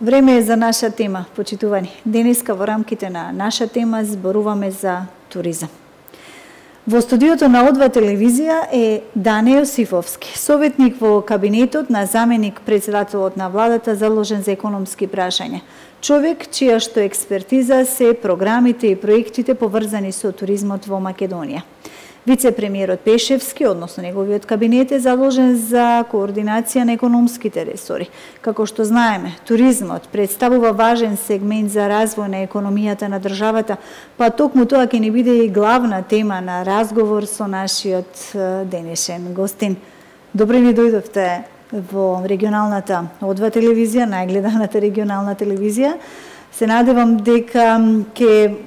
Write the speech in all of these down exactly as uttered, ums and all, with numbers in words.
Време е за наша тема, почитувани. Денеска во рамките на наша тема зборуваме за туризам. Во студиото на О два телевизија е Дане Јосифовски, советник во кабинетот на заменик председателот на владата заложен за економски прашања. Човек чија што експертиза се програмите и проектите поврзани со туризмот во Македонија. Вице-премиерот Пешевски, односно неговиот кабинет, е заложен за координација на економските ресори. Како што знаеме, туризмот представува важен сегмент за развој на економијата на државата, па токму тоа ќе ни биде и главна тема на разговор со нашиот денешен гостин. Добре ни дојдовте во регионалната О два телевизија, најгледаната регионална телевизија. Се надевам дека ќе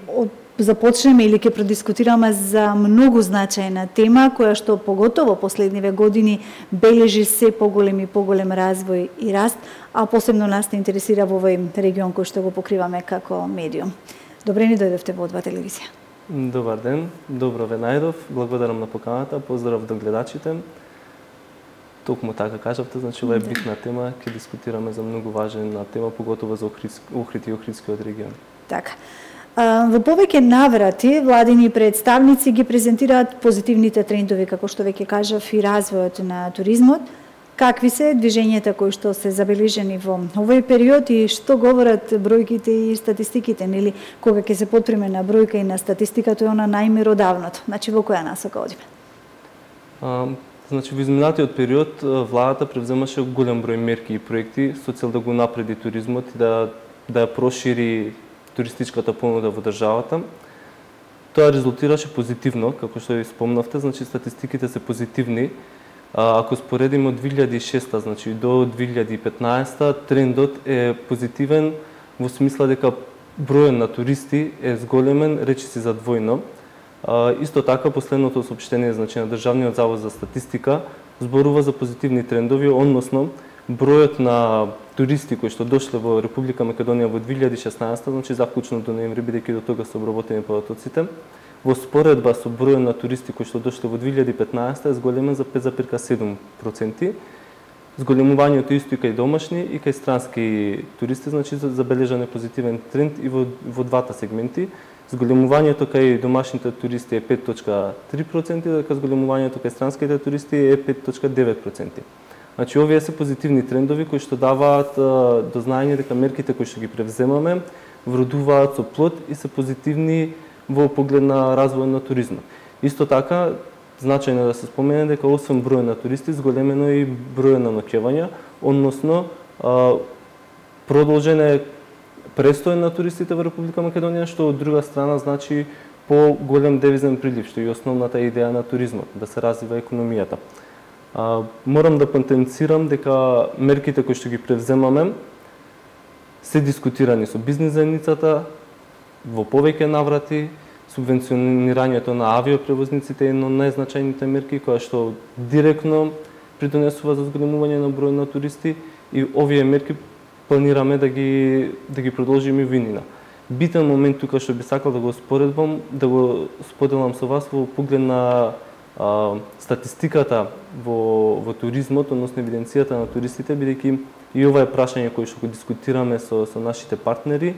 започнеме или ќе продискутираме за многу значајна тема, која што поготово последниве години бележи се поголем и поголем развој и раст, а посебно нас те интересира во овој регион кој што го покриваме како медиум. Добре ни дојдовте во О два телевизија. Добар ден, добро ве најдов, благодарам на поканата, поздрав до гледачите. Токму така кажавте, значи ова е битна тема, ќе дискутираме за многу важна тема, поготово за Охрид и Охридскиот регион. Така. Во повеќе наврати, владини представници ги презентираат позитивните трендови, како што веќе кажав, и развојот на туризмот. Какви се движењата кои што се забележени во овој период и што говорат бројките и статистиките, нели, кога ќе се потпреме на бројка и на статистика, тоа е она најмеродавното. Значи, во која насока одиме? А, значи, во изминатиот период, владата превземаше голем број мерки и проекти со цел да го напреди туризмот и да, да ја прошири туристичката понуда во државата. Тоа резултираше позитивно, како што ви спомнавте, значи статистиките се позитивни. А, ако споредиме од две илјади и шеста, значи до две илјади и петнаесета, трендот е позитивен во смисла дека бројот на туристи е зголемен, речиси задвојно. А, исто така, последното соопштение, значи на Државниот завод за статистика зборува за позитивни трендови, односно бројот на туристи кои што дошле во Република Македонија во две илјади и шеснаесета, значи заклучно до ноември, бидејќи до тога се обработени податоците, во споредба со бројот на туристи кои што дошле во две илјади и петнаесета е зголемен за пет зарез седум проценти. Зголемувањето исто и кај домашни и кај странски туристи, значи забележан е позитивен тренд и во, во двата сегменти. Зголемувањето кај домашните туристи е пет зарез три проценти, дека зголемувањето кај странските туристи е пет зарез девет проценти. Значи, овие се позитивни трендови кои што даваат до знаење дека мерките кои што ги превземаме вродуваат со плод и се позитивни во поглед на развој на туризмот. Исто така, значајно е да се спомене дека освен број на туристи, зголемено и број на ноќевања, односно продолжен е престој на туристите во Република Македонија, што од друга страна значи по-голем девизен прилив, што е основната идеја на туризмот, да се развива економијата. А, морам да потенцирам дека мерките кои што ги превземаме се дискутирани со бизнис заедницата во повеќе наврати. Субвенционирањето на авиопревозниците е едно од најзначајните мерки која што директно придонесува за зголемување на број на туристи и овие мерки планираме да ги да ги продолжиме во иднина. Битен момент тука што би сакал да го споредбам, да го споделам со вас во поглед на а, статистиката во во туризмот, односно евиденцијата на туристите, бидејќи и ова е прашање кое што го дискутираме со со нашите партнери,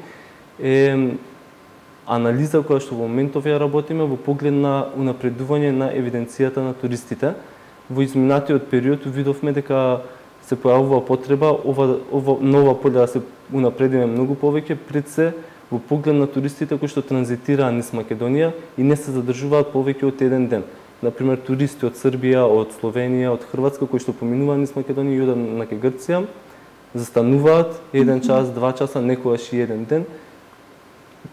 е анализа која што во моментов ја работиме во поглед на унапредување на евиденцијата на туристите. Во изминатиот период видовме дека се појавува потреба ова ова нова поле да се унапредиме многу повеќе, пред се во поглед на туристите кои што транзитираат низ Македонија и не се задржуваат повеќе од еден ден. Например, туристи од Србија, од Словенија, од Хрватска кои што поминуваат низ Македонија и одат на Грција, застануваат еден час, два часа, некогаш и еден ден.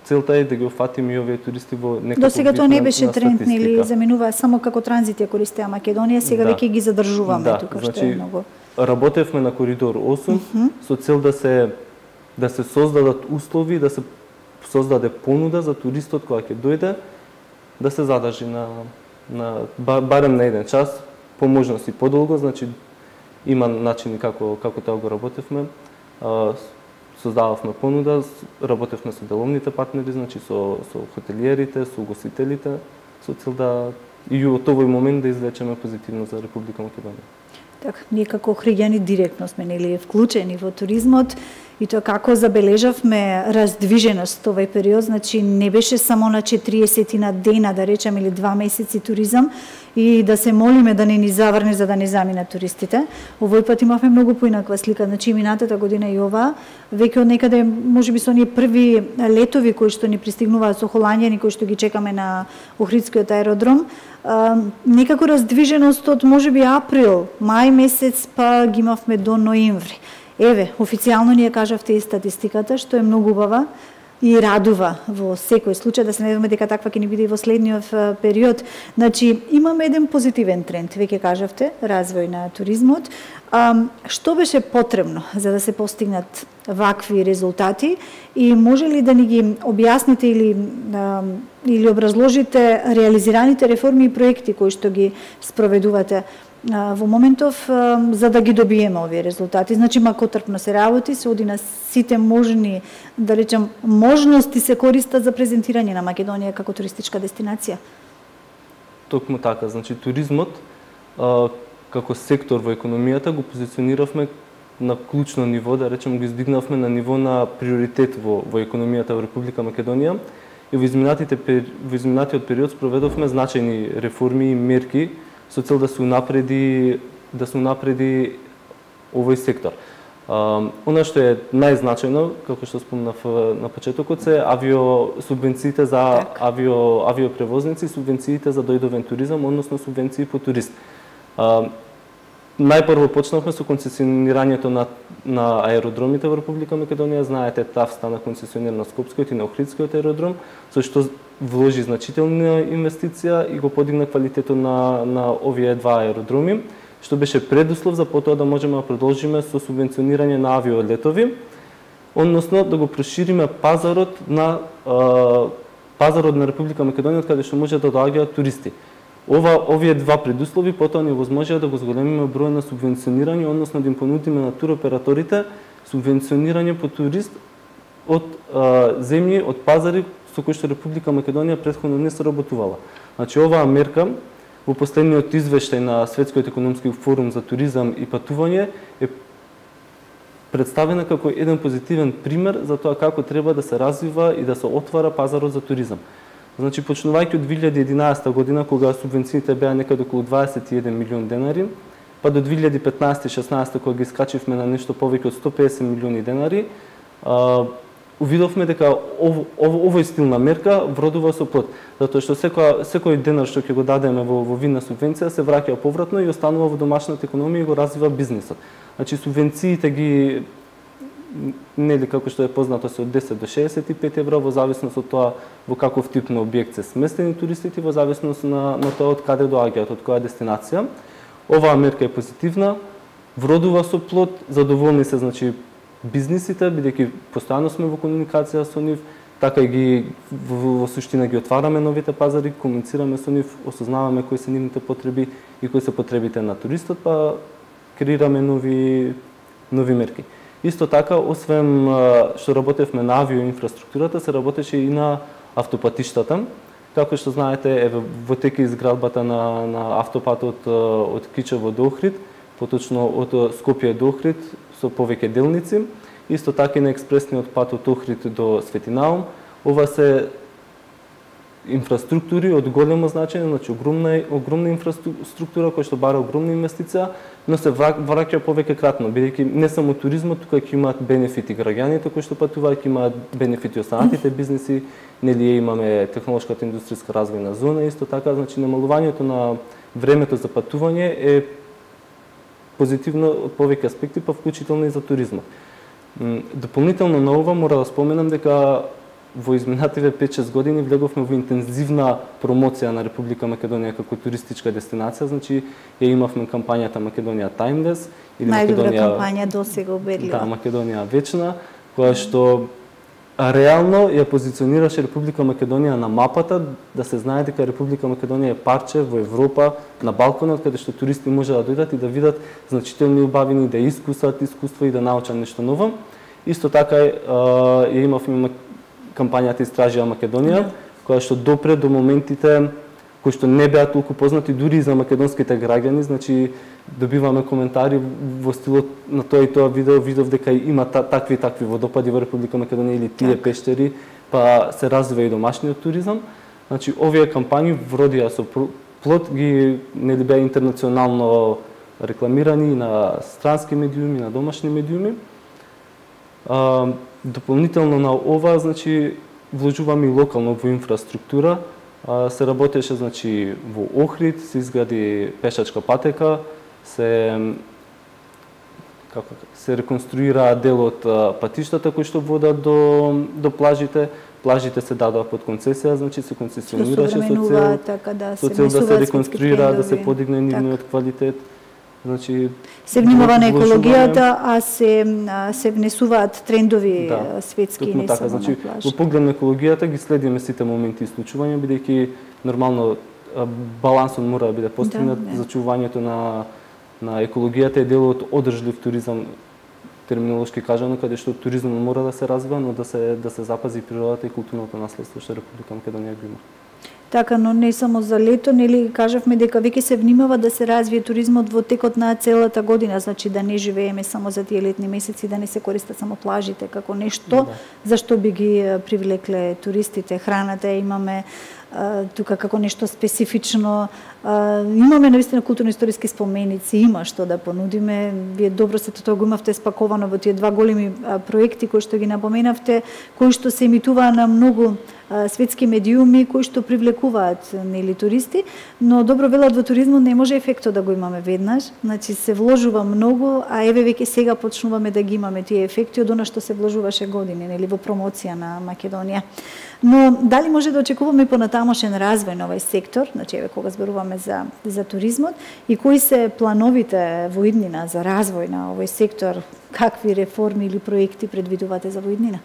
Целта е да ги офатиме и овие туристи во некако. До сега тоа не беше тренд, нели, заминуваа само како транзит ја користеа Македонија, сега да. веќе ги задржуваме да, тука, значи, што е многу. Работевме на коридор осум uh -huh. со цел да се да се создадат услови, да се создаде понуда за туристот која ќе дојде да се задржи на на барем на еден час, по можност и подолго, значи има начини како како тоа го работевме. Создававме понуда, работевме со деловните партнери, значи со со хотелиерите, со угостителите, со цел да и од овој момент да извлечеме позитивно за Република Македонија. Така, ние како охриѓани директно сме нели вклучени во туризмот И тоа како забележавме раздвиженост овој период, значи не беше само на четириесет дена, да речем, или два месеци туризам и да се молиме да не ни заврне за да не заминат туристите. Овој пат имавме многу поинаква слика, значи минатата година и ова, веќе од некаде, можеби со оние први летови кои што ни пристигнуваат со холанѓани, кои што ги чекаме на Охридскиот аеродром, а, некако раздвиженост од можеби април, мај месец, па ги имавме до ноември. Еве, официјално ни ја кажавте и статистиката, што е многу убава и радува во секој случај, да се надеваме дека таква ќе ни биде и во следниот период. Значи, имаме еден позитивен тренд, веќе кажавте, развој на туризмот. А, што беше потребно за да се постигнат вакви резултати и може ли да ни ги објасните или, а, или образложите реализираните реформи и проекти кои што ги спроведувате во моментов за да ги добиеме овие резултати? Значи, макотрпно се работи, се оди на сите можни, да речем, можности се користат за презентирање на Македонија како туристичка дестинација? Токму така, значи туризмот а, како сектор во економијата го позициониравме на клучно ниво, да речем, го издигнавме на ниво на приоритет во, во економијата во Република Македонија и во изминатите во изминатиот период спроведовме значајни реформи и мерки со цел да се унапреди да се унапреди овој сектор. А, она што е најзначајно, како што спомнав на почетокот, се авио субвенциите за так. авио авиопревозници, субвенциите за дојдовен туризам, односно субвенции по турист. А, најпрво почнавме со концесионирањето на на аеродромите во Република Македонија. Знаете, ТАВ стана концесионер на Скопскиот и на Охридскиот аеродром, со што вложи значителна инвестиција и го подигна квалитетот на на овие два аеродроми, што беше предуслов за потоа да можеме да продолжиме со субвенционирање на авиолетови, односно да го прошириме пазарот на а, пазарот на Република Македонија каде што може да доаѓаат туристи. Ова овие два предуслови потоа ни возможија да го зголемиме број на субвенционирање, односно да им понудиме на туроператорите субвенционирање по турист од а, земји, од пазари со кои што Република Македонија претходно не соработувала. Значи, оваа мерка во последниот извештај на Светскиот економски форум за туризам и патување е представена како еден позитивен пример за тоа како треба да се развива и да се отвара пазарот за туризам. Значи, почнувајќи од две илјади и единаесета година, кога субвенциите беа некаде околу дваесет и еден милион денари, па до две илјади и петнаесета и шеснаесета кога ги скачивме на нешто повеќе од сто песет милиони денари, а, увидовме дека ов, ов, овој стил на мерка вродува со плод, затоа што секој секој денар што ќе го дадеме во, во вид на субвенција се враќа повратно и останува во домашната економија и го развива бизнисот. Значи, субвенциите ги нели како што е познато се од десет до шеесет и пет евра во зависност од тоа во каков тип на објект се сместени туристите, во зависност на на тоа од каде доаѓаат, од која дестинација. Оваа мерка е позитивна, вродува со плод, задоволни се, значи, бизнисите, бидејќи постојано сме во комуникација со нив, така и ги во, во суштина ги отвараме новите пазари, комуницираме со нив, осознаваме кои се нивните потреби и кои се потребите на туристот, па креираме нови нови мерки. Исто така, освен што работевме на авиоинфраструктурата, се работеше и на автопатиштата. Како што знаете, еве во тека изградбата на на автопатот од Кичево до Охрид, поточно од Скопје до Охрид со повеќе делници, исто така и на експресниот пат од Охрид до Светинаум. Ова се инфраструктури од големо значење, значи огромна огромна инфраструктура која што бара огромна инвестиција, но се враќа повеќе кратно, бидејќи не само туризмот тука ќе имаат бенефити граѓаните кои што патуваат, ќе имаат бенефити останатите бизниси, нели имаме технолошката индустријска развојна зона, исто така, значи намалувањето на времето за патување е позитивно од повеќе аспекти, па вклучително и за туризмот. Дополнително на ова мора да споменам дека во изминативе пет-шест години влеговме во интензивна промоција на Република Македонија како туристичка дестинација, значи ја имавме кампањата Македонија Timeless или Македонија Македонија кампања досега убедлива. Да, Македонија вечна, која што реално ја позиционираше Република Македонија на мапата, да се знае дека Република Македонија е парче во Европа, на Балканот, каде што туристи може да дојдат и да видат значителни убавини, да искусат искуство и да научат нешто ново. Исто така ја имавме кампањата Истражија Македонија, која што допре до моментите кои што не беа толку познати дури и за македонските граѓани, значи добиваме коментари во стилот на тоа и тоа видео, видов дека има та, такви и такви водопади во Република Македонија или тие так. пештери, па се развива и домашниот туризам. Значи овие кампањи вродија со плод, ги нели беа интернационално рекламирани на странски медиуми, на домашни медиуми. А, дополнително на ова, значи вложуваме и локално во инфраструктура. А, се работеше значи во Охрид, се изгради пешачка патека, се како се реконструира дел од патиштата кои што водат до до плажите. Плажите се дадоа под концесија, значи се концесионираше со цел така да се со цел да се реконструира, да се подигне нивниот квалитет. Значи се внимава на екологијата, а се се внесуваат трендови да, светски не така, значи во поглед на екологијата ги следиме сите моменти и случувања, бидејќи нормално балансот мора да биде постигнат. Да, зачувањето на на екологијата е дел од одржлив туризам, терминолошки кажано, каде што туризмот мора да се развива, но да се да се запази природата и културното наследство што Република Македонија го има. Така, но не само за лето, нели кажавме дека веќе се внимава да се развие туризмот во текот на целата година, значи да не живееме само за тие летни месеци, да не се користат само плажите како нешто да. Зашто би ги привлекле туристите. Храната имаме а, тука како нешто специфично. А, имаме навистина културно-историски споменици, има што да понудиме. Вие добро се тоа го имавте спаковано во тие два големи а, проекти кои што ги напоменавте, кои што се емитуваа на многу а, светски медиуми кои што привлекуваат нели туристи, но добро велат во туризмот не може ефектот да го имаме веднаш, значи се вложува многу, а еве веќе сега почнуваме да ги имаме тие ефекти од она што се вложуваше години нели во промоција на Македонија. Но дали може да очекуваме понатамошен развој на овој сектор, значи еве кога зборуваме за за туризмот и кои се плановите во иднина за развој на овој сектор, какви реформи или проекти предвидувате за во иднина?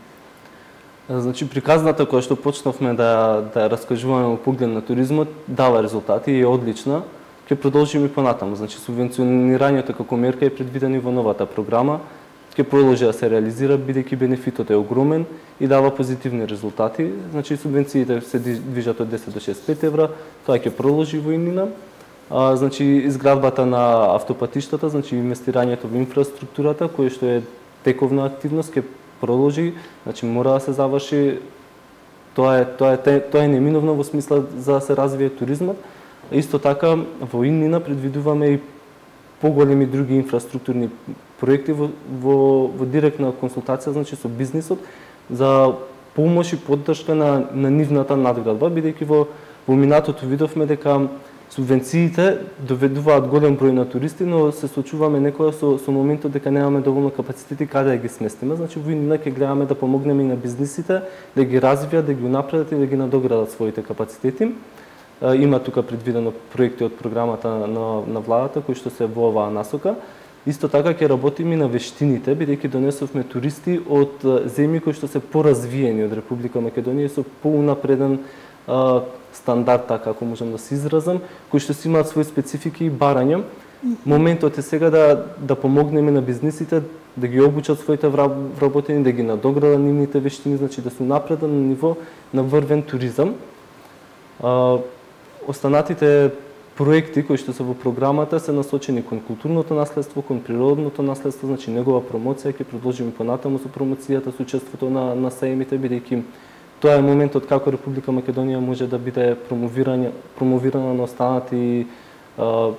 Значи приказната која што почнавме да да раскажуваме во поглед на туризмот дава резултати и е одлична. Ќе продолжиме и понатаму. Значи субвенционирањето како мерка е предвидено во новата програма. Ќе продолжи да се реализира бидејќи бенефитот е огромен и дава позитивни резултати. Значи субвенциите се движат од десет до шеесет и пет евра, тоа ќе продолжи во иднина. А, значи изградбата на автопатиштата, значи инвестирањето во инфраструктурата кој што е тековна активност ќе продолжи, значи мора да се заврши. Тоа е тоа е тоа е неминовно во смисла за да се развие туризмот. Исто така во иднина предвидуваме и поголеми други инфраструктурни проекти во, во, во директна консултација, значи со бизнисот, за помош и поддршка на, на нивната надградба, бидејќи во, во минатото видовме дека субвенциите доведуваат голем број на туристи, но се соочуваме некоја со, со моментот дека немаме доволно капацитети каде да ги сместиме. Значи во иднина ќе гледаме да помогнеме и на бизнисите, да ги развијат, да ги унапредат и да ги надоградат своите капацитети. Има тука предвидено проекти од програмата на, на владата кои што се во оваа насока. Исто така ќе работиме и на вештините, бидејќи донесовме туристи од земји кои што се поразвиени од Република Македонија со поунапреден а, стандард, така ако можам да се изразам, кои што си имаат свои специфики и барања. Моментот е сега да да помогнеме на бизнисите да ги обучат своите вработени, да ги надоградат нивните вештини, значи да се напредат на ниво на врвен туризам. А, Останатите проекти кои што се во програмата се насочени кон културното наследство, кон природното наследство, значи негова промоција ќе продолжиме понатаму со промоцијата, со учеството на на саемите, бидејќи тоа е моментот како Република Македонија може да биде промовирана промовирана на останати а,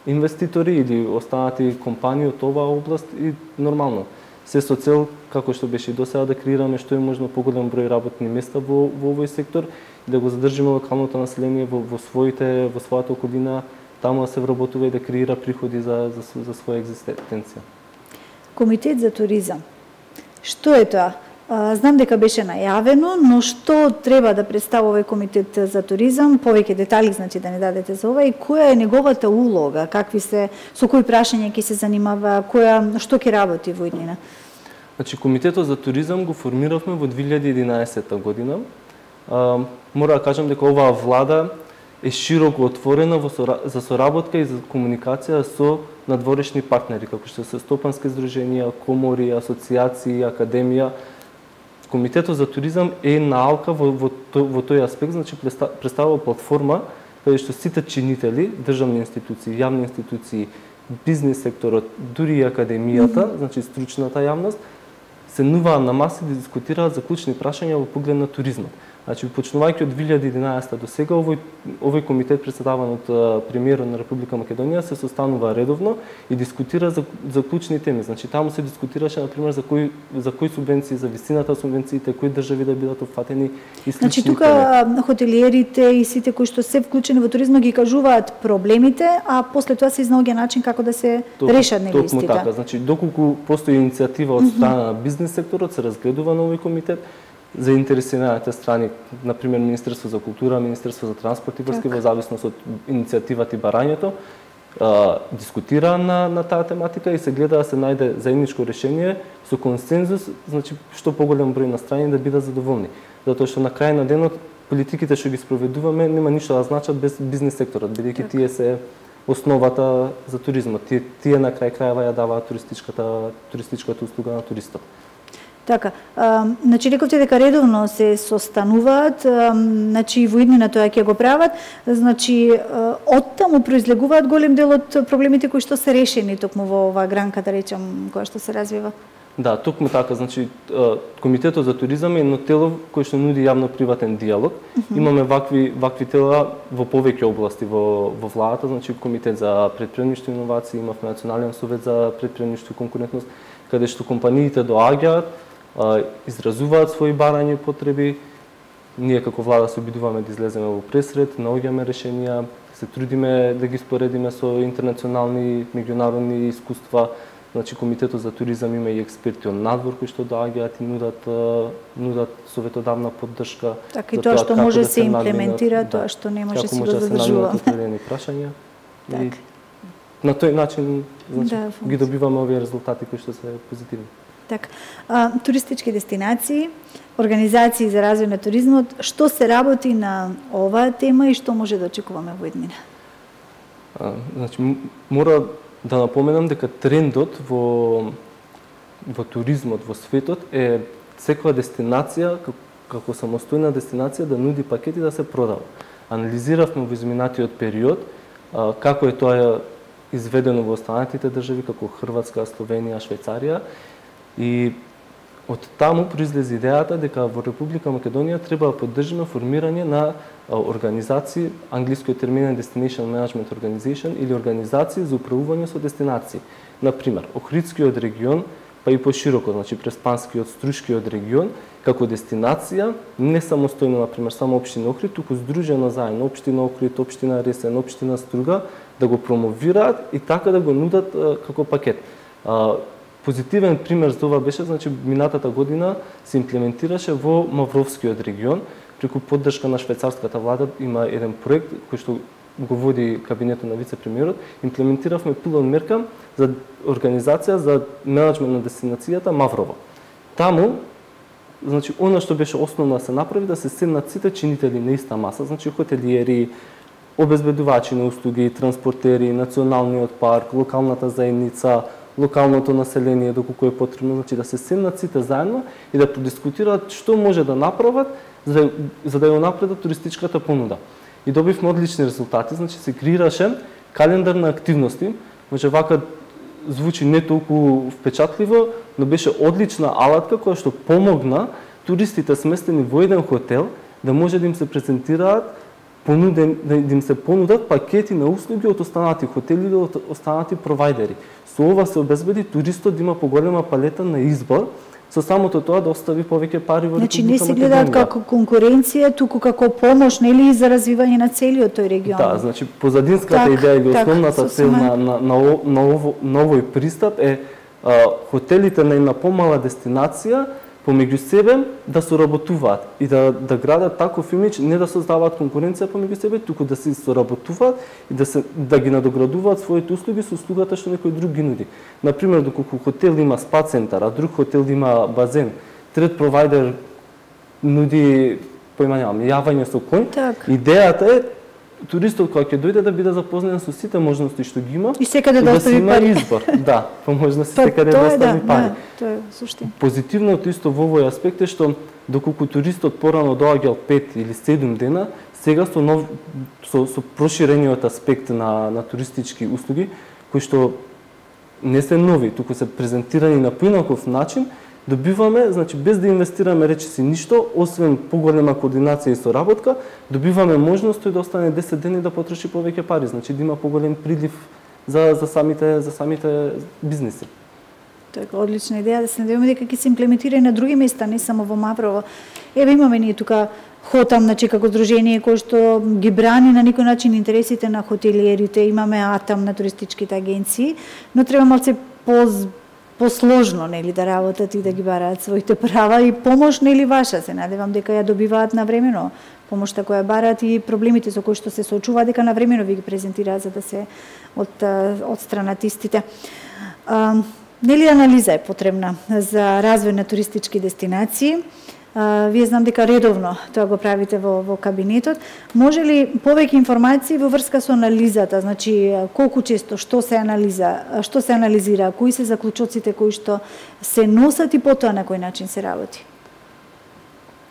инвеститори или останати компании од оваа област и нормално се со цел како што беше и досега да креираме што е можно поголем број работни места во во овој сектор и да го задржиме локалното население во, во своите во својата околина, таму да се вработува и да креира приходи за за, за своја екзистенција. Комитет за туризам. Што е тоа? Знам дека беше најавено, но што треба да представува овој комитет за туризам? Повеќе детали, значи да не дадете за ова и која е неговата улога, какви се со кои прашања ќе се занимава, која што ќе работи во иднина? Значи комитетот за туризам го формиравме во две илјади и единаесетта година. А, мора да кажам дека оваа влада е широко отворена во за соработка и за комуникација со надворешни партнери, како што се стопански здруженија, комори, асоциации, академија. Комитетот за туризам е наалка во, во, во тој аспект, значи представува платформа каде што сите чинители, државни институции, јавни институции, бизнес секторот, дури и академијата, mm-hmm. значи стручната јавност, се нуваат на маси да дискутираат за клучни прашања во поглед на туризмот. Значи, почнувајќи од две илјади и единаесета до сега, овој, овој комитет председаван од премиерот на Република Македонија се состанува редовно и дискутира за, за клучни теми. Значи, таму се дискутираше, например, за кои, за кои субвенции, за висината субвенциите, кои држави да бидат опфатени и слични. Значи, тука теми. Хотелиерите и сите кои што се вклучени во туризмот ги кажуваат проблемите, а после тоа се изнаоѓа начин како да се Ток, решат нели истите. Токму така. Значи, доколку постои иницијатива од страна mm-hmm. на бизнес секторот, се разгледува на овој комитет. Заинтересираните страни, например Министерство за култура, Министерство за транспорт и врски, во зависност од иницијативата и барањето, а, дискутира на, на таа тематика и се гледа да се најде заедничко решение со консензус, значи што поголем број на страни да бидат задоволни. Затоа што на крај на денот политиките што ги спроведуваме нема ништо да значат без бизнес секторот, бидејќи тие се основата за туризмот. Тие, тие на крај крајава ја даваат туристичката туристичката услуга на туристот. Така, а, значи рековте дека редовно се состануваат, а, значи во иднина тоа ќе го прават, значи од таму произлегуваат голем дел од проблемите кои што се решени токму во оваа гранка, да речем, која што се развива. Да, токму така, значи Комитетот за туризам е едно тело кој што нуди јавно-приватен диалог. Uh-huh. Имаме вакви вакви тела во повеќе области во во владата, значи Комитет за претприемништво и иновации, имавме Национален совет за претприемништво и конкурентност, каде што компаниите доаѓаат, изразуваат своји барања и потреби. Ние како влада се обидуваме да излеземе во пресред, наоѓаме решенија, се трудиме да ги споредиме со интернационални, меѓународни искуства. Значи Комитетот за туризам има и експерти од надвор кои што доаѓаат и нудат нудат советодавна поддршка. Така и тоа што може да се имплементира, тоа што не може да се задржува. Определени прашања. И на тој начин значи да, ги добиваме овие резултати кои што се позитивни. Така, а, туристички дестинации, организации за развој на туризмот, што се работи на оваа тема и што може да очекуваме во иднина? А, значи, мора да напоменам дека трендот во во туризмот во светот е секоја дестинација како, како самостојна дестинација да нуди пакети да се продава. Анализиравме во изминатиот период а, како е тоа изведено во останатите држави како Хрватска, Словенија, Швајцарија. И од таму произлезе идејата дека во Република Македонија треба да поддржиме формирање на организации, англискиот термин е Destination Management Organization или организации за управување со дестинации. Например, Охридскиот регион, па и пошироко, значи Преспанскиот, Струшкиот регион, како дестинација, не самостојно, например, само општина Охрид, туку здружено заедно општина Охрид, општина Ресен, општина Струга, да го промовираат и така да го нудат како пакет. Позитивен пример за това беше, значи, минатата година се имплементираше во Мавровскиот регион, преку поддршка на швајцарската влада има еден проект кој што го води кабинетот на вице-премиерот. Имплементиравме пилот мерка за организација за менаџмент на дестинацијата Маврово. Таму, значи, она што беше основно да се направи, да се седнат сите чинители на иста маса, значи хотелиери, обезбедувачи на услуги, транспортери, националниот парк, локалната заедница, локалното население доколку е потребно, значи да се седнат сите заедно и да подискутираат што може да направат за да, за да ја напредат туристичката понуда. И добивме одлични резултати, значи се креираше календар на активности, може вака звучи не толку впечатливо, но беше одлична алатка која што помогна туристите сместени во еден хотел да може да им се презентираат понуден, да им се понудат пакети на услуги од останати хотели или од останати провајдери. Со ова се обезбеди туристот да има поголема палета на избор, со самото тоа да остави повеќе пари во Република Македонија. Значи не се гледаат како конкуренција, туку како помош, нели, за развивање на целиот тој регион. Да, значи позадинската так, идеја или основната цел на, на, на, на, ово, на овој пристап е а, хотелите на една помала дестинација помеѓу себе да соработуваат и да, да градат таков имидж, не да создаваат конкуренција помеѓу себе, туку да се соработуваат и да, се, да ги надоградуваат своите услуги со услугата што некој друг ги нуди. Например, доколку хотел има спа центар, а друг хотел има базен, трет провајдер нуди, поима немам, јавање со коњ, так. Идејата е туристот кој ќе дојде да биде запознат со сите можности што ги има и секаде да остави има пари. Избор. Да, по можности Па, секаде да остави да, пари. Да, тоа е суштина. Позитивното исто во овој аспект е што доколку туристот порано доаѓал пет или седум дена, сега со нов со, со проширениот аспект на на туристички услуги кои што не се нови, туку се презентирани на поинаков начин, добиваме, значи без да инвестираме речиси ништо, освен поголема координација и соработка, добиваме можност тој да остане десет дени да потроши повеќе пари, значи да има поголем прилив за за самите за самите бизниси. Тоа е одлична идеја, да се надеваме дека ќе се имплементира и на други места, не само во Маврово. Еве имаме ние тука Хотам, значи како здружение кој што ги брани на некој начин интересите на хотелиерите, имаме Атам на туристичките агенции, но треба малце по посложно, нели, да работат и да ги бараат своите права и помош, нели, ваша, се надевам дека ја добиваат навремено помошта која бараат и проблемите со кои што се соочуваат, дека навремено ви ги презентираат за да се од одстранат истите. А, нели анализа е потребна за развој на туристички дестинации? Uh, вие знам дека редовно тоа го правите во, во кабинетот. Може ли повеќе информации во врска со анализата, значи колку често, што се анализа, што се анализира, кои се заклучоците кои што се носат и потоа на кој начин се работи?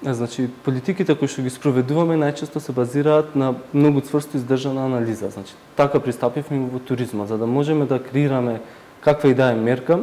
Значи политиките кои што ги спроведуваме најчесто се базираат на многу цврсто издржана анализа. Значи така пристапивме во туризмот, за да можеме да креираме каква и да е мерка,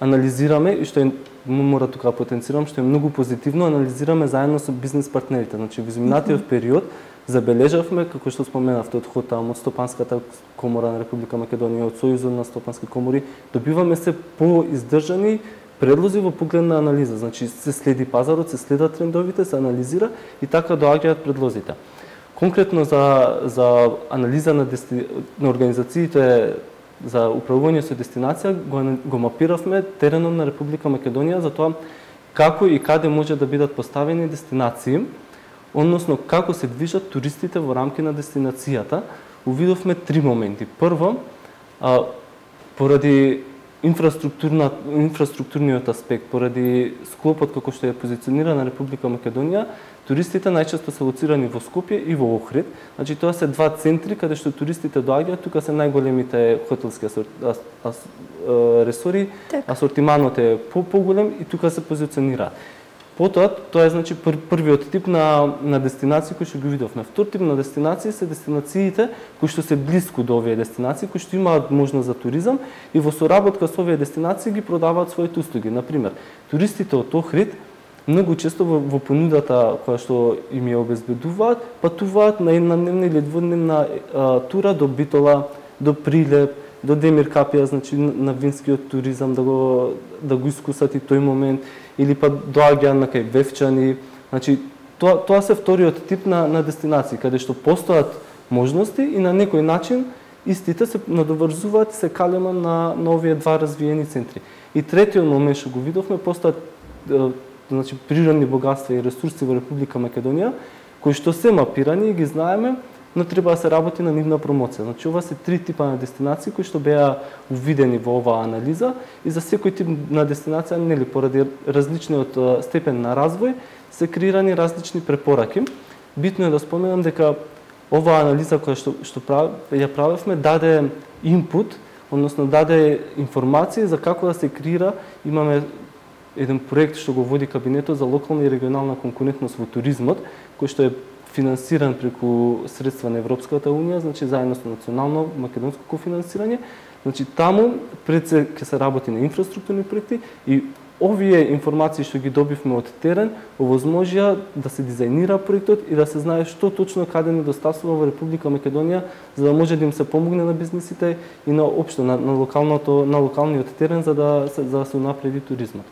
анализираме и што е мора тука потенцирам што е многу позитивно, анализираме заедно со бизнис партнерите. Значи во изминатиот период забележавме, како што споменавте, од Хотам, од Стопанската комора на Република Македонија, од Сојузот на стопански комори, добиваме се поиздржани предлози во поглед на анализа. Значи се следи пазарот, се следат трендовите, се анализира и така доаѓаат предлозите. Конкретно за за анализа на дести... на организациите за управување со дестинација го, го мапиравме теренот на Република Македонија за тоа како и каде може да бидат поставени дестинации, односно како се движат туристите во рамки на дестинацијата. Увидовме три моменти. Прво, а, поради инфраструктурна инфраструктурниот аспект, поради склопот како што е позиционирана Република Македонија, туристите најчесто се лоцирани во Скопје и во Охрид. Значи тоа се два центри каде што туристите доаѓаат, тука се најголемите хотелски ас, ас, ресори, так. Асортиманот е по поголем и тука се позиционира. Потоа тоа е значи пр првиот тип на на дестинации кои што ги видовме. Втор тип на дестинации се дестинациите кои што се блиску до овие дестинации, кои што имаат можност за туризам и во соработка со овие дестинации ги продаваат своите услуги. Например, туристите од Охрид многу често во, во понудата која што им ја обезбедуваат, патуваат на една дневна или двудневна а, тура до Битола, до Прилеп, до Демир Капија, значи на винскиот туризам да го да го искусат и тој момент, или па доаѓаат на кај Вевчани. Значи тоа тоа се вториот тип на на дестинации каде што постојат можности и на некој начин истите се надоврзуваат и се калема на на овие два развиени центри. И третиот момент што го видовме, постојат значи природни богатства и ресурси во Република Македонија кои што се мапирани и ги знаеме, но треба да се работи на нивна промоција. Значи ова се три типа на дестинации кои што беа увидени во оваа анализа и за секој тип на дестинација, нели, поради различниот степен на развој се креирани различни препораки. Битно е да споменам дека оваа анализа која што што прав, ја правевме даде инпут, односно даде информации за како да се креира. Имаме еден проект што го води кабинетот за локална и регионална конкурентност во туризмот, кој што е финансиран преку средства на Европската унија, значи заедно со национално македонско кофинансирање. Значи таму пред се ќе се работи на инфраструктурни проекти и овие информации што ги добивме од терен овозможија да се дизајнира проектот и да се знае што точно каде недостасува во Република Македонија, за да може да им се помогне на бизнисите и на општо на, на локалното на локалниот терен за да се за да се унапреди туризмот.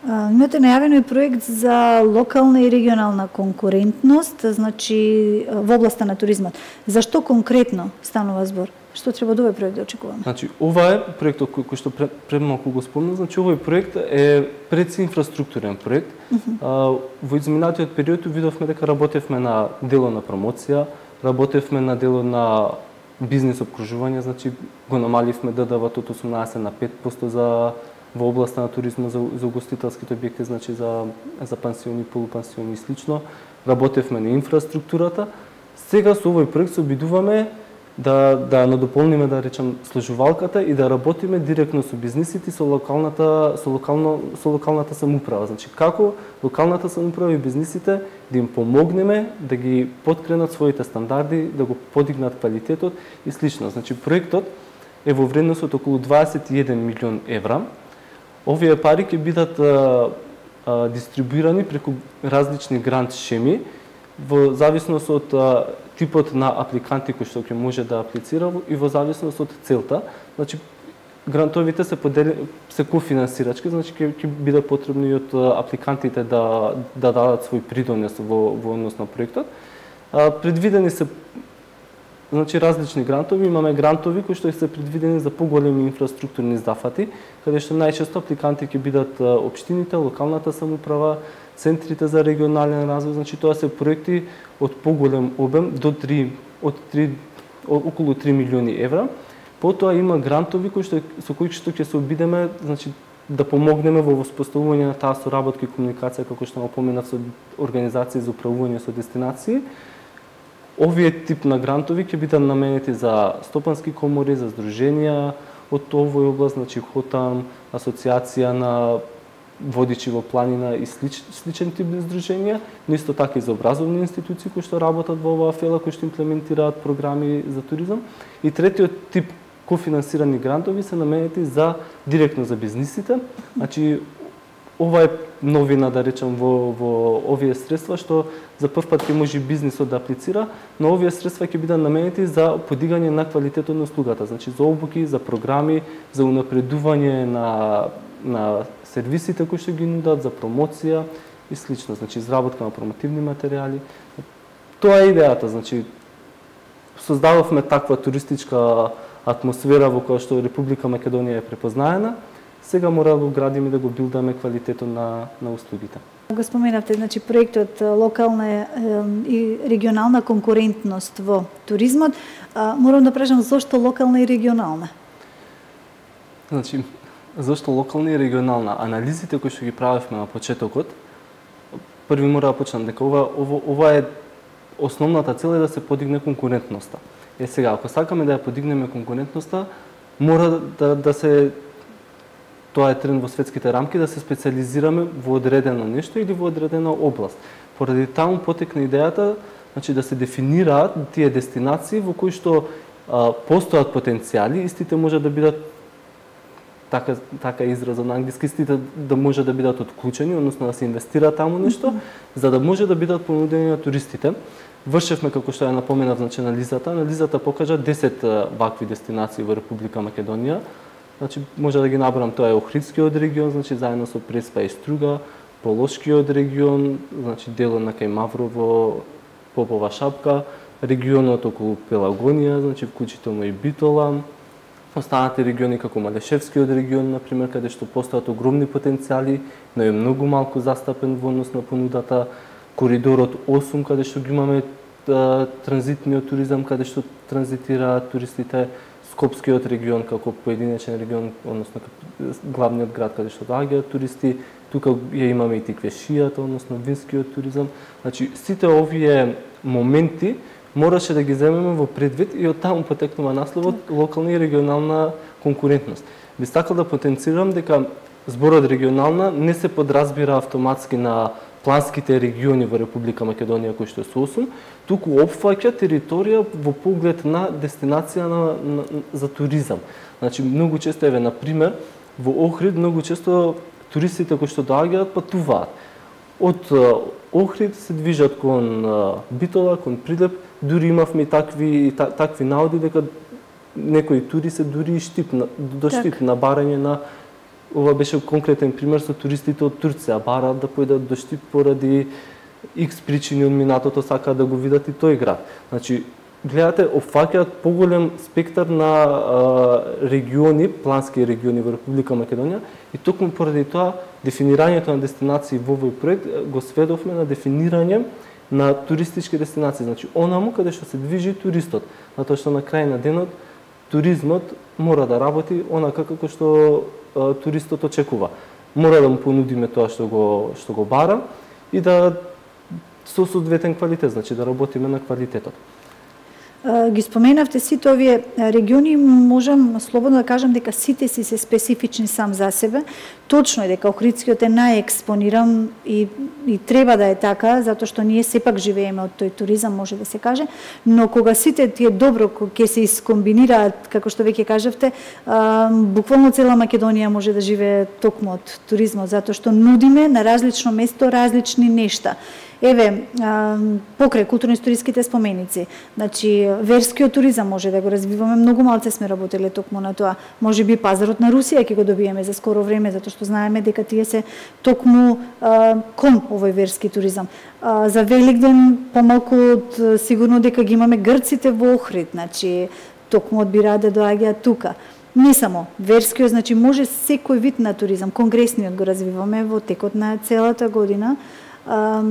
Имате најавено и проект за локална и регионална конкурентност, значи во областа на туризмот. Зашто конкретно станува збор? Што треба да овој проект да очекуваме? Значи, ова е проектот кој, кој што пред, пред малку го спомнав, значи овој проект е предси инфраструктурен проект. Uh -huh. а, во изминатиот период видовме дека работевме на дело на промоција, работевме на дело на бизнис обкружување, значи го намаливме Д Д В-то од осумнаесет на пет проценти за во областа на туризмот за, за угостителските објекти, значи за за пансиони, полупансиони и слично. Работевме на инфраструктурата Сега со овој проект се обидуваме да да надополниме, да речам, сложувалката и да работиме директно со бизнисите, со локалната со локално со локалната самоуправа. Значи како локалната самоуправа и бизнисите да им помогнеме да ги поткренат своите стандарди, да го подигнат квалитетот и слично. Значи проектот е во вредност од околу дваесет и еден милион евра. Овие пари ќе бидат а, а, дистрибуирани преку различни грант шеми во зависност од а, типот на апликанти кои што ќе може да аплицира и во зависност од целта. Значи грантовите се подели се кофинансирачки, значи ќе ќе биде потребно и од апликантите да да дадат свој придонес во во однос на проектот. А, предвидени се значи различни грантови, имаме грантови кои што се предвидени за поголеми инфраструктурни зафати, каде што најчесто апликанти ќе бидат општините, локалната самоуправа, центрите за регионален развој, значи тоа се проекти од поголем обем до три од три околу три милиони евра. Потоа има грантови кои што со кои што ќе се обидеме, значи да помогнеме во воспоставување на таа соработка и комуникација, како што напоменав, со организации за управување со дестинации. Овие тип на грантови ќе бидат наменети за стопански комори, за здруженија од овој област, значи ХОТАМ, асоциација на водичи во планина и слич, сличен тип здруженија, но исто така и за образовни институции кои што работат во оваа фела, кои што имплементираат програми за туризам. И третиот тип кофинансирани грантови се наменети за директно за бизнисите. Значи ова е новина, да речам, во во овие средства што за прв пат ќе може бизнисот да аплицира, но овие средства ќе бидат наменети за подигање на квалитетот на услугата, значи за обуки, за програми, за унапредување на на сервисите кои што ги нудат, за промоција и слично, значи изработка на промотивни материјали. Тоа е идејата, значи создававме таква туристичка атмосфера во која што Република Македонија е препознаена. Сега мора да го градиме, да го билдаме квалитетот на на услугите. Го споменавте, значи проектот локална и регионална конкурентност во туризмот. Морам да прашам зошто локална и регионална? Значи зашто локална и регионална? Анализите кои што ги правевме на почетокот, први мора да почнам дека ова, ова, ова е основната цел е да се подигне конкурентноста. Е сега, ако сакаме да ја подигнеме конкурентноста, мора да, да се, тоа е тренд во светските рамки, да се специализираме во одредено нешто или во одредена област. Поради таму потекна идејата, значи да се дефинираат тие дестинации во кои што а, постојат потенцијали, истите може да бидат така така израза на англиски, истите да може да бидат отклучени, односно да се инвестира таму нешто, mm-hmm. за да може да бидат понудени на туристите. Вршевме, како што ја напоменав, значи анализата. Анализата покажа десет вакви дестинации во Република Македонија. Значи може да ги набрам, тоа е Охридскиот регион, значи заедно со Преспа и Струга, Полошкиот регион, значи делот на кај Маврово, Попова шапка, регионот околу Пелагонија, значи вклучително и Битола. Останати региони како Малешевскиот регион, например, каде што постојат огромни потенцијали, но е многу малку застапен во однос на понудата. Коридорот осум, каде што ги имаме а, транзитниот туризам, каде што транзитираат туристите. Скопскиот регион како поединечен регион, односно главниот град каде што доаѓаат туристи. Тука ја имаме и Тиквешијата, односно винскиот туризам. Значи сите овие моменти мораше да ги земеме во предвид и од таму потекнува насловот локална и регионална конкурентност. Би сакал да потенцирам дека зборот регионална не се подразбира автоматски на планските региони во Република Македонија кои што се осум, туку опфаќа територија во поглед на дестинација на, на, за туризам. Значи многу често еве на пример во Охрид многу често туристите кои што доаѓаат патуваат. Од Охрид се движат кон Битола, кон Прилеп, дури имавме и такви та, такви наоди дека некои тури се дури и штип до штип на барање на. Ова беше конкретен пример со туристите од Турција, бараат да појдат до Штип поради икс причини од минатото, сакаат да го видат и тој град. Значи, гледате, опфаќаат поголем спектар на а, региони, плански региони во Република Македонија и токму поради тоа дефинирањето на дестинации во овој проект го сведовме на дефинирање на туристички дестинации, значи онаму каде што се движи туристот, затоа што на крај на денот туризмот мора да работи онака како што а, туристот очекува. Мора да му понудиме тоа што го што го бара и да со соодветен квалитет, значи да работиме на квалитетот. Ги споменавте сите овие региони, можам слободно да кажам дека сите си се специфични сам за себе. Точно е дека Охридскиот е најекспониран и, и треба да е така, затоа што ние сепак живееме од тој туризам, може да се каже, но кога сите тие добро ќе се искомбинираат, како што веќе кажавте, а, буквално цела Македонија може да живее токму од туризмот, затоа што нудиме на различно место различни нешта. Еве, покрај културно-историските споменици, значи верскиот туризам може да го развиваме, многу малце сме работеле токму на тоа. Може би пазарот на Русија ќе го добиеме за скоро време, затоа што знаеме дека тие се токму а, кон овој верски туризам. А, за Великден помалку од сигурно дека ги имаме грците во Охрид, значи токму одбираат да доаѓаат тука. Не само верскиот, значи може секој вид на туризам, конгресниот го развиваме во текот на целата година. А,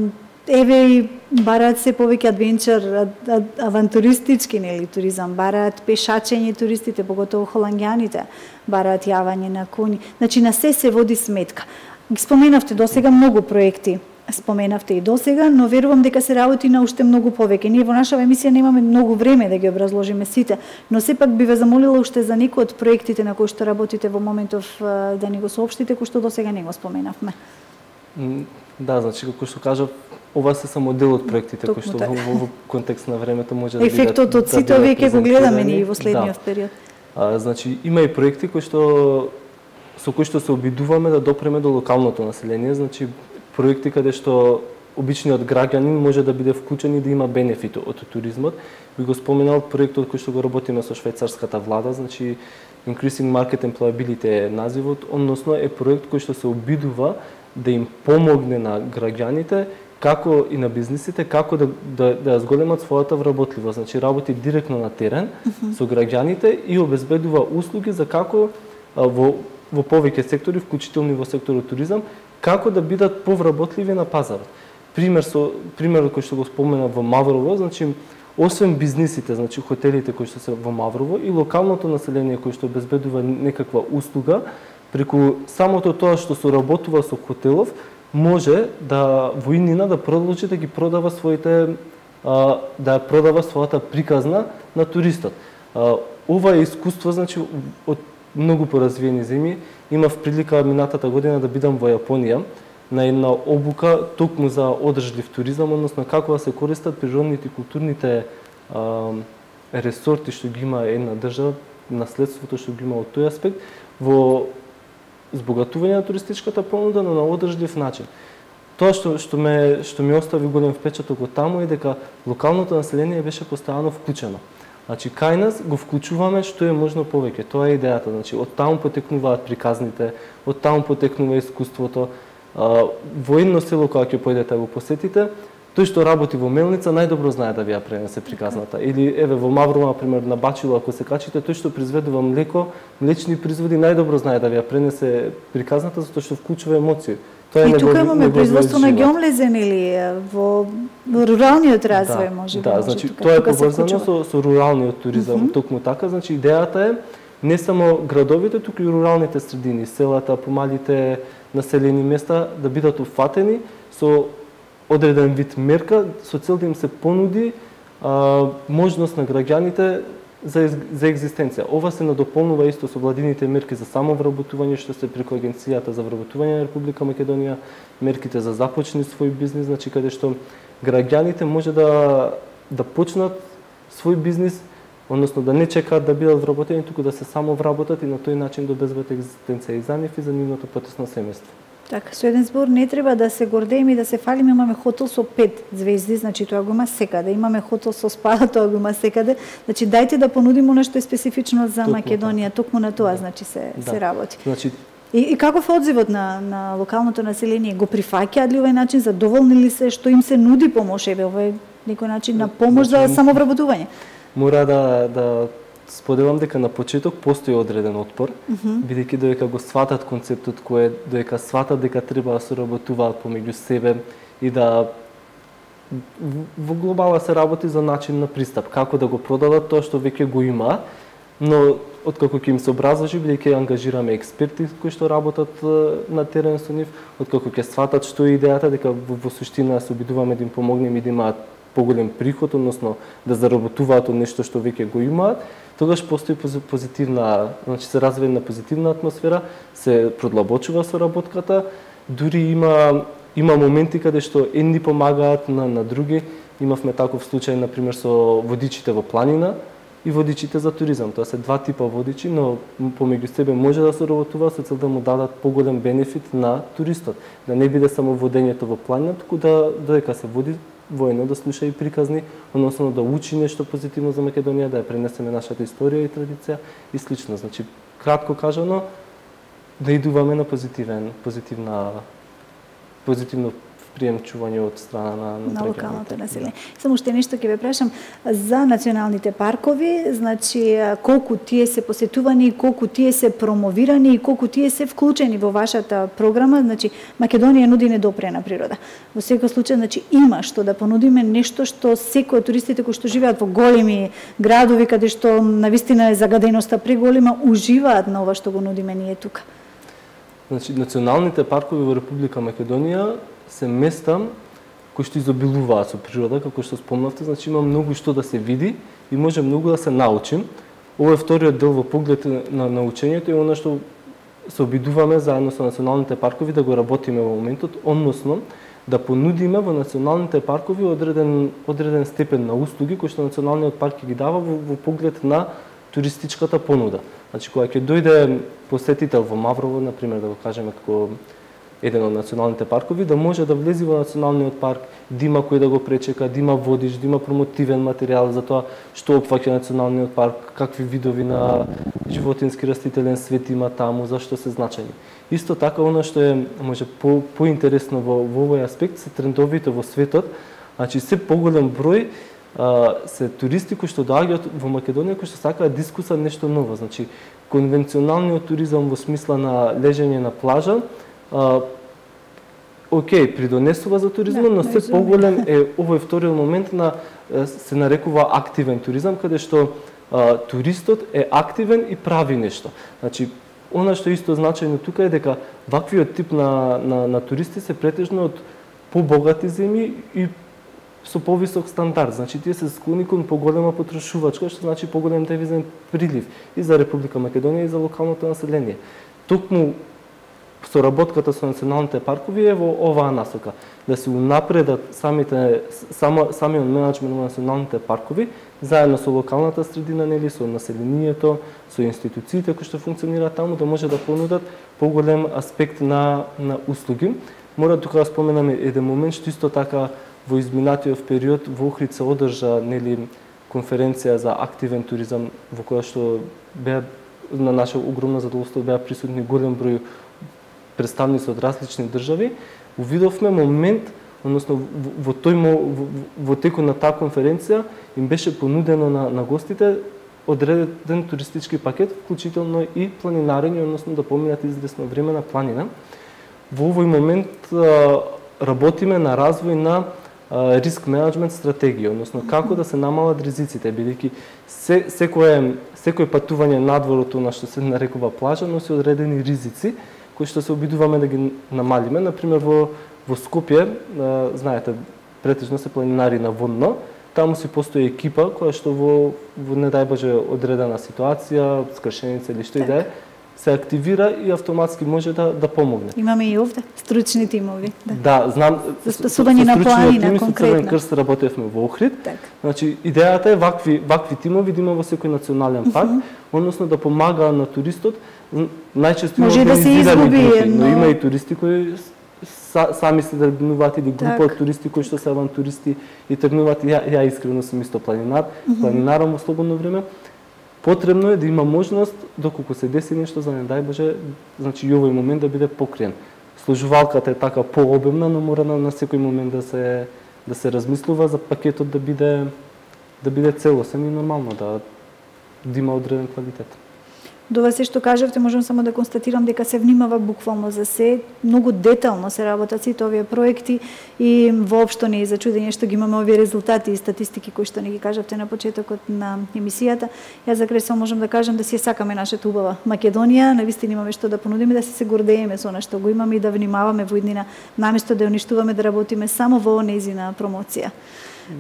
Еве и бараат се повеќе адвенчар, авантуристички нели туризам, бараат пешачење туристите, поготово холанѓаните, бараат јавање на коњи. Значи на се се води сметка. Ги споменавте досега многу проекти, споменавте и досега, но верувам дека се работи на уште многу повеќе. Ние во нашава емисија немаме многу време да ги образложиме сите, но сепак би ве замолила уште за некои од проектите на кои што работите во моментов да ни го соопштите, кои што досега не го споменавме. Да, значи како што кажав, ова се само дел од проектите кои што во, во контекст на времето може да бидат. Ефектот од сите овие ќе го гледаме ние во следниот да. период. А, значи има и проекти кои што со кои што се обидуваме да допреме до локалното население, значи проекти каде што обичниот граѓанин може да биде вклучен и да има бенефит од туризмот. Би го споменал проектот кој што го работиме со швајцарската влада, значи Increasing Market Employability е називот, односно е проект кој што се обидува да им помогне на граѓаните како и на бизнисите, како да, да, да зголемат својата вработливост. Значи, работи директно на терен uh -huh. со граѓаните и обезбедува услуги за како а, во, во повеќе сектори, вклучително во секторот туризам, како да бидат повработливи на пазарот. Пример со примерот кој што го спомена во Маврово, значи освен бизнисите, значи хотелите кои што се во Маврово и локалното население кој што обезбедува некаква услуга, преку самото тоа што соработува со хотелов, може да во иднина да продолжи да ги продава своите а, да продава својата приказна на туристот. А, ова е искуство, значи од многу поразвиени земји. Имав прилика минатата година да бидам во Јапонија на една обука токму за одржлив туризам, односно како да се користат природните и културните а, ресорти што ги има една држава, наследството што ги има од тој аспект во збогатување на туристичката понуда, но на одржлив начин. Тоа што што ме што ми остави голем впечаток од таму е дека локалното население беше постојано вклучено. Значи кај нас го вклучуваме што е можно повеќе. Тоа е идејата. Значи од таму потекнуваат приказните, од таму потекнува искуството. Во едно село кога ќе појдете да го посетите, тој што работи во мелница најдобро знае да ви ја пренесе приказната. Или еве во Маврово на пример на Бачило ако се качите, тој што произведува млеко, млечни производи најдобро знае да ви ја пренесе приказната затоа што вклучува емоции. Тоа е и тука имаме производство на ѓомлезен или во, во руралниот развој да, може да, може значи тука, тоа е поврзано со, со руралниот туризам, mm -hmm. токму така, значи идејата е не само градовите, туку и руралните средини, селата, помалите населени места да бидат уфатени со одреден вид мерка со цел да им се понуди а, можност на граѓаните за, за екзистенција. Ова се надополнува исто со владините мерки за самовработување што се преку Агенцијата за вработување на Република Македонија, мерките за започни свој бизнис, значи каде што граѓаните може да да почнат свој бизнис, односно да не чекаат да бидат вработени, туку да се самовработат и на тој начин да обезбедат екзистенција и за нив и за нивното потесно семејство. Така, со еден збор не треба да се гордееме и да се фалиме, имаме хотел со пет звезди, значи тоа го има секаде. Имаме хотел со спа, тоа го има секаде. Значи дајте да понудиме нешто специфично за токму Македонија, токму на тоа, да. значи се да. се работи. Значи И, и каков е одзивот на на локалното население? Го прифаќаат ли овој начин, задоволни ли се што им се нуди помош, еве овој некој начин на помош значи, за самовработување? Мора да да споделам дека на почеток постои одреден отпор, mm -hmm. бидејќи додека го сватат концептот кој додека сватат дека треба да соработуваат помеѓу себе и да во глобала се работи за начин на пристап, како да го продадат тоа што веќе го има, но откако ќе им се образложи, бидејќи ќе ангажираме експерти кои што работат на терен со нив, откако ќе сватат што е идејата, дека во, во суштина се обидуваме да им помогнеме и да имаат поголем приход, односно да заработуваат од нешто што веќе го имаат, тогаш постои позитивна, значи се развива една позитивна атмосфера, се продлабочува соработката, дури има има моменти каде што едни помагаат на на други. Имавме таков случај на пример со водичите во планина и водичите за туризам. Тоа се два типа водичи, но помеѓу себе може да се работува со цел да му дадат поголем бенефит на туристот, да не биде само водењето во планина, туку да додека се води воено да слуша и приказни, односно да учи нешто позитивно за Македонија, да ја пренесеме нашата историја и традиција и слично. Значи, кратко кажано, да идуваме на позитивен, позитивна, позитивно приемчување од страна на, на, на локалното население. Само уште нешто ќе ве прашам за националните паркови, значи колку тие се посетувани, колку тие се промовирани и колку тие се вклучени во вашата програма, значи Македонија нуди недопрена природа. Во секој случај, значи има што да понудиме, нешто што секој од туристите кои што живеат во големи градови каде што навистина е загаденоста преголема, уживаат на ова што го нудиме ние тука. Значи националните паркови во Република Македонија се места кои што изобилуваат со природа, како што спомнавте, значи има многу што да се види и може многу да се научим. Ова е вториот дел во поглед на научењето и она што се обидуваме заедно со националните паркови да го работиме во моментот, односно да понудиме во националните паркови одреден одреден степен на услуги кои што националниот парк ги дава во, во поглед на туристичката понуда. Значи кога ќе дојде посетител во Маврово, на пример, да го кажеме како еден од националните паркови, да може да влезе во националниот парк, да има кој да го пречека, да има водич, да има промотивен материјал за тоа што опфаќа националниот парк, какви видови на животински растителен свет има таму, зашто се значајни. Исто така, она што е може по поинтересно во, во овој аспект се трендовите во светот, значи се поголем број а, се туристи кои што доаѓаат во Македонија кои што сакаат да искусат нешто ново, значи конвенционалниот туризам во смисла на лежење на плажа, Uh, окей, придонесува за туризмот, но се поголем е овој вториот момент на се нарекува активен туризам, каде што uh, туристот е активен и прави нешто. Значи, она што исто значајно тука е дека ваквиот тип на, на, на туристи се претежно од побогати земји и со повисок стандард. Значи, тие се склони кон поголема потрошувачка, што значи поголем девизен прилив и за Република Македонија и за локалното население. Токму соработката со националните паркови е во оваа насока, да се унапредат самите само самиот менаџмент на националните паркови заедно со локалната средина, нели, со населението, со институциите кои што функционираат таму, да може да понудат поголем аспект на на услуги. Мора тука да споменаме еден момент што исто така во изминатиот период во Охрид се одржа, нели, конференција за активен туризам во која што беа на наше огромно задоволство беа присутни голем број представници од различни држави. Увидовме момент, односно во, во тој во, во текот на таа конференција им беше понудено на, на гостите одреден туристички пакет, вклучително и планинарење, односно да поминат известно време на планина. Во овој момент а, работиме на развој на а, риск менеджмент стратегија, односно како да се намалат ризиците, бидејќи се, секое секој патување надвор од она што се нарекува плажа носи одредени ризици кои што се обидуваме да ги намалиме. Например, во, во Скопје, а, знаете, претежно се планинари на водно, таму си постои екипа која што во, во не дај Боже одредена ситуација, скршеница или што и да е, се активира и автоматски може да да помогне. Имаме и овде стручни тимови. Да, да знам. За спасување на планина конкретно. Со Црвен крст работевме во Охрид. Так. Значи идејата е вакви вакви тимови да има во секој национален парк, uh -huh. односно да помага на туристот. Најчесто може да се изгуби, групи, но... но има и туристи кои са, сами се тргнуваат или група так. од туристи кои што се авантуристи и тргнуваат. Ја, ја искрено сум исто планинар, uh -huh. планинарам во слободно време. Потребно е да има можност, доколку се деси нешто, за не дај Боже, значи и овој момент да биде покриен. Сложувалката е така пообемна, но мора на, на секој момент да се да се размислува за пакетот да биде да биде целосен и нормално да да има одреден квалитет. До вас се што кажавте, можам само да констатирам дека се внимава буквално за се, многу детално се работат сите овие проекти и воопшто не е за чудење што ги имаме овие резултати и статистики кои што не ги кажавте на почетокот на емисијата. Јас за крај само можам да кажам да си сакаме нашата убава Македонија, навистина имаме што да понудиме, да се гордееме со она што го имаме и да внимаваме во иднина, наместо да ја уништуваме, да работиме само во нејзина промоција.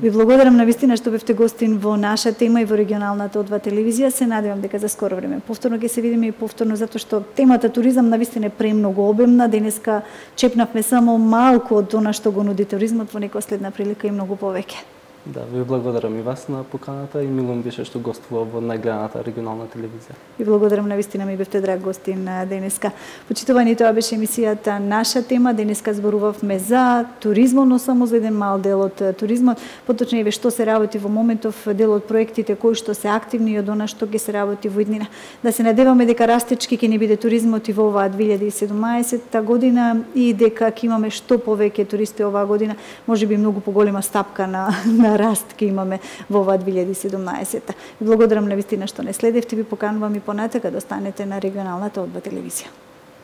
Ви благодарам навистина што бевте гостин во наша тема и во регионалната О два телевизија. Се надевам дека за скоро време повторно ќе се видиме и повторно затоа што темата туризам навистина е премногу обемна. Денеска чепнавме само малку од она што го нуди туризмот, во некоја следна прилика и многу повеќе. Да, ви благодарам и вас на поканата и милум беше што гостува во најгледаната регионална телевизија. И благодарам навистина ми бевте драг гостин денеска. Почитувани, тоа беше емисијата Наша тема. Денеска зборувавме за туризмот, но само за еден мал дел од туризмот. Поточнее што се работи во моментов, дел од проектите кои што се активни и од она што ќе се работи во иднина. Да се надеваме дека растечки ќе ни биде туризмот и во оваа две илјади и седумнаесетта година и дека ќе имаме што повеќе туристи оваа година, можеби многу поголема стапка на, на раст ќе имаме во оваа две илјади и седумнаесетта. Благодарам навистина што не следевте, ви поканувам и понатака да останете на регионалната О два телевизија.